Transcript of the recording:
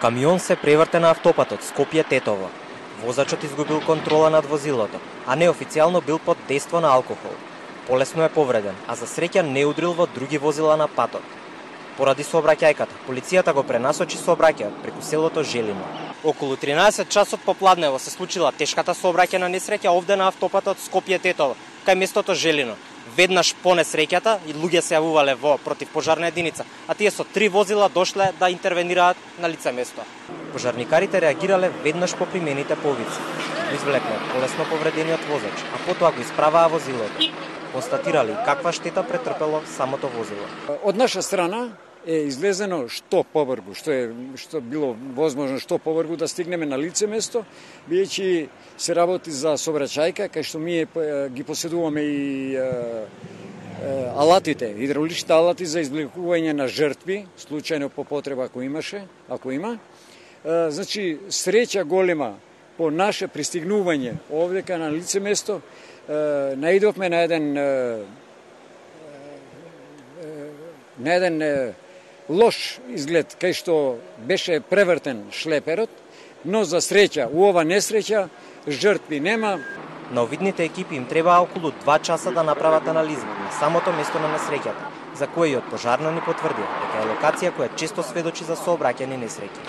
Камион се преврте на автопатот Скопје-Тетово. Возачот изгубил контрола над возилото, а неофицијално бил под дејство на алкохол. Полесно е повреден, а за среќа не удрил во други возила на патот. Поради сообраќајката, полицијата го пренасочи сообраќајот преку селото Желино. Околу 13 часот попладнево се случила тешката сообраќајна несреќа овде на автопатот Скопје-Тетово, кај местото Желино. Веднаш по несреќата и луѓе се јавувале во противпожарна единица, а тие со 3 возила дошле да интервенираат на лице место. Пожарникарите реагирале веднаш по примените повици. Го извлекле полесно повредениот возач, а потоа го исправаа возилото. Констатирали каква штета претрпело самото возило. Од наша страна е излезено што побргу, што било возможно што побргу да стигнеме на лице место, бидејќи се работи за сообраќајка, кај што ние ги поседуваме и алатите, хидравличните алати за извлекување на жртви, случајно по потреба ако има. Значи, среќа голема по наше пристигнување овдека на лице место, наидовме на еден лош изглед, кај што беше превртен шлеперот, но за среќа, у ова несреќа, жртви нема. На овидните екипи им требаа околу 2 часа да направат анализа на самото место на несреќата, за кој и од пожарно ни потврдија дека е локација која често сведочи за сообраќајни несреќи.